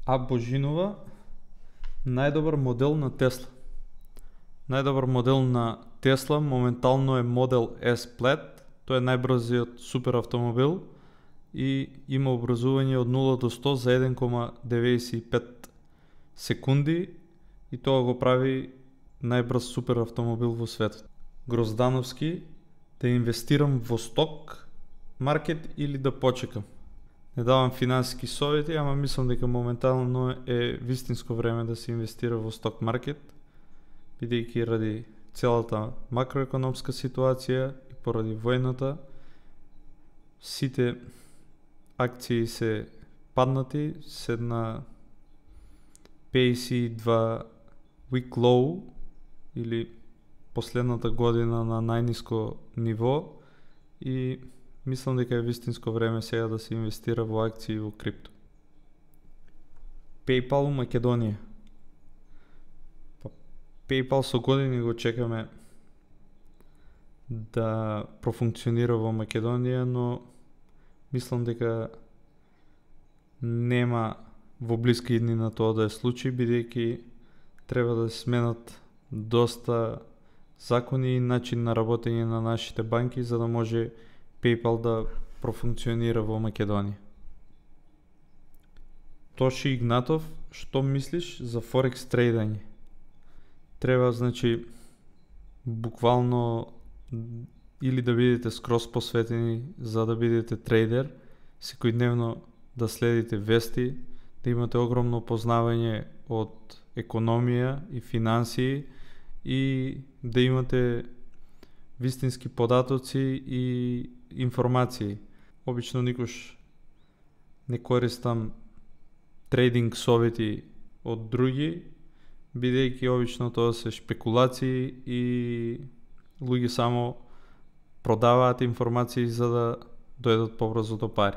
А Божинова, најдобар модел на Тесла. Најдобар модел на Тесла моментално е модел S Plaid. Тој е најбрзиот супер автомобил и има образување од 0 до 100 за 1,95 секунди и тоа го прави најбрз супер автомобил во светот. Гроздановски, да инвестирам во сток маркет или да почекам. Не давам финансиски совети, ама мислам дека моментално е вистинско време да се инвестира во сток маркет, бидејќи ради целата макроекономска ситуација и поради војната, сите акции се паднати, се на PAC2 week low или последната година на најниско ниво и мислам дека е вистинско време сега да се инвестира во акции и во крипто. PayPal Македонија. PayPal со години го чекаме да профункционира во Македонија, но мислам дека нема во блиска иднина тоа да е случај, бидејќи треба да се сменат доста закони и начин на работење на нашите банки за да може PayPal да профункционира во Македонија. Тоши Игнатов, што мислиш за Форекс трейдање? Треба, значи, буквално или да бидете скроз посветени за да бидете трейдер, секојдневно да следите вести, да имате огромно познавање од економија и финансии и да имате вистински податоци и информации. Обично никош не користам трейдинг совети од други, бидејќи обично тоа се шпекулации и луѓе само продаваат информации за да дојдат побрзо до пари.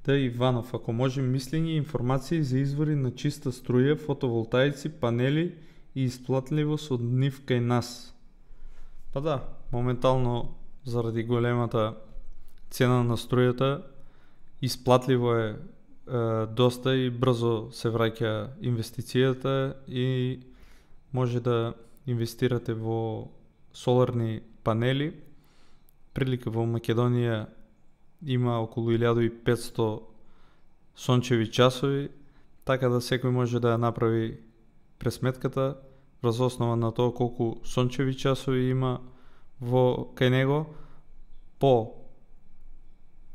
Иванов, ако може мислење и информации за извори на чиста струја, фотоволтаици, панели и исплатливост од нив кај нас. Па да, моментално заради големата цена на струјата исплатливо е доста и брзо се враќа инвестицијата и може да инвестирате во соларни панели. Прилика во Македонија има околу 1500 сончеви часови, така да секој може да ја направи пресметката врз основа на тоа колку сончеви часови има во кај него по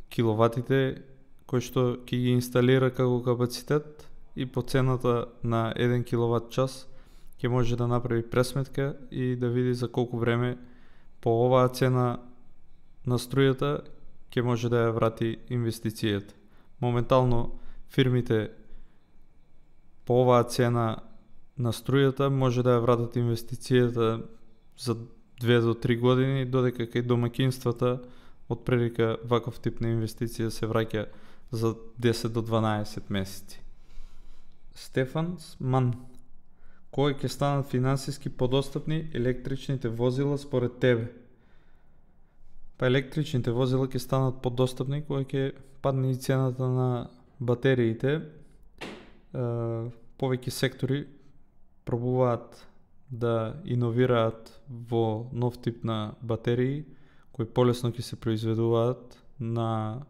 киловатите кои што ќе ги инсталира како капацитет и по цената на 1 киловат час ќе може да направи пресметка и да види за колку време по оваа цена на струјата ќе може да ја врати инвестицијата. Моментално фирмите по оваа цена на струјата може да ја вратат инвестицијата за 2 до 3 години, додека кај домаќинствата од прилика ваков тип на инвестиција се враќа за 10 до 12 месеци. Стефан Ман, кои ќе станат финансиски подостапни електричните возила според тебе? Па електричните возила ќе станат подостапни кога ќе падне и цената на батериите. Повеќе сектори пробуваат да иновираат во нов тип на батерии кои полесно ќе се произведуваат на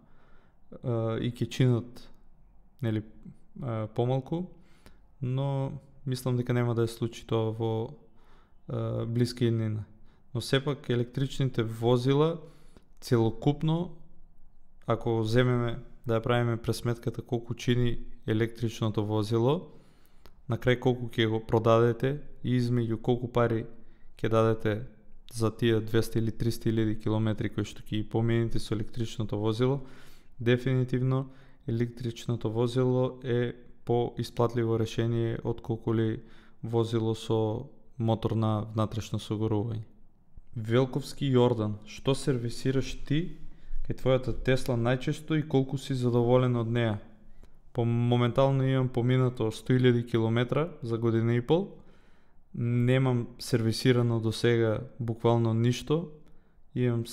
и ќе чинат помалку, но мислам дека нема да е случај тоа во блиска иднина. Но сепак електричните возила целокупно, ако земеме да ја правиме пресметката колку чини електричното возило, на крај колку ќе го продадете и измеѓу колку пари ќе дадете за тие 200 или 300 илјади километри кои што ќе ги помените со електричното возило, дефинитивно електричното возило е по-исплатливо решение отколку ли возило со мотор на внатрешно согорување. Велковски Јордан, што сервисираш ти кај твојата Тесла најчесто и колку си задоволен од неа? Моментално имам поминато 100.000 километра за година и пол. Немам сервисирано до сега буквално ништо. Имам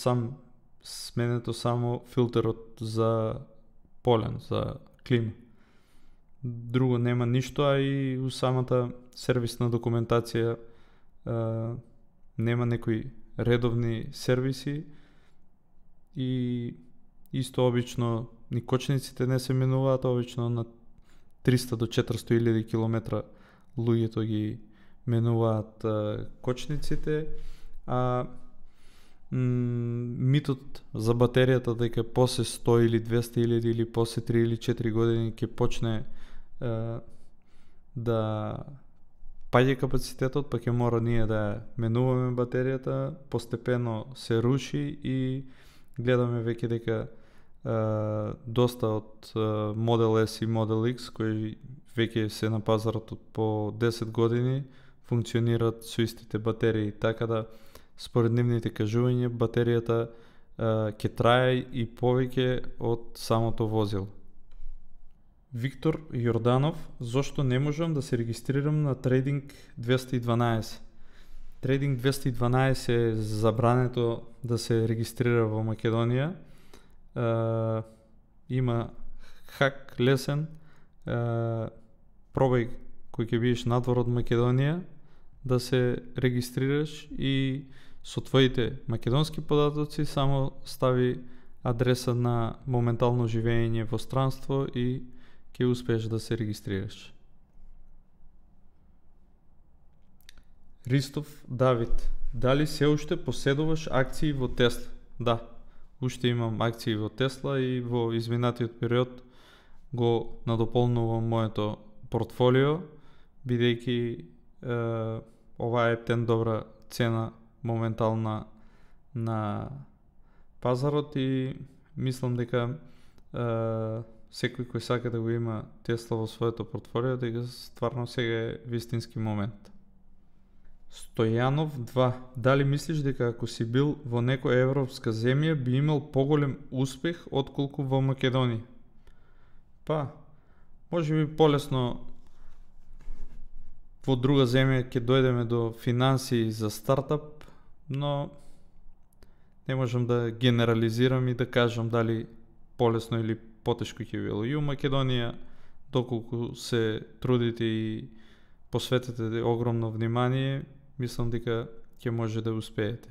сменето само филтерот за полен за клима. Друго нема ништо, а и у самата сервисна документација нема некои редовни сервиси и исто обично ни кочниците не се менуваат, обично на 300 до 400 илјади километра луѓето ги менуваат кочниците, а митот за батеријата дека после 100 или 200 илјади или после 3 или 4 години ќе почне да паѓа капацитетот, па ќе мора ние да менуваме батеријата, постепено се руши и гледаме веќе дека доста од Model S и Model X кои веќе се на пазарот по 10 години функционираат со истите батерии, така да според нивните кажувања батеријата ќе трае и повеќе од самото возило. Виктор Јорданов: зошто не можам да се регистрирам на Trading 212? Trading 212 е забрането да се регистрира во Македонија. Има хак лесен, пробај кој ќе бидеш надвор од Македонија да се регистрираш и со твоите македонски податоци само стави адреса на моментално живење во странство и ќе успееш да се регистрираш. Ристов Давид: дали се уште поседуваш акции во Тесла? Да, уште имам акции во Тесла и во изминатиот период го надополнувам моето портфолио, бидејќи ова е птен добра цена моментална на пазарот и мислам дека секој кој сака да го има Тесла во своето портфолио, дека стварно сега е вистински момент. Стојанов 2: дали мислиш дека ако си бил во некоја европска земја би имал поголем успех отколку во Македонија? Па, може би полесно во друга земја ќе дојдеме до финансии за стартап, но не можам да генерализирам и да кажам дали полесно или потешко ќе било. И у Македонија, доколку се трудите и посветите огромно внимание, мислам дека ќе може да успеете.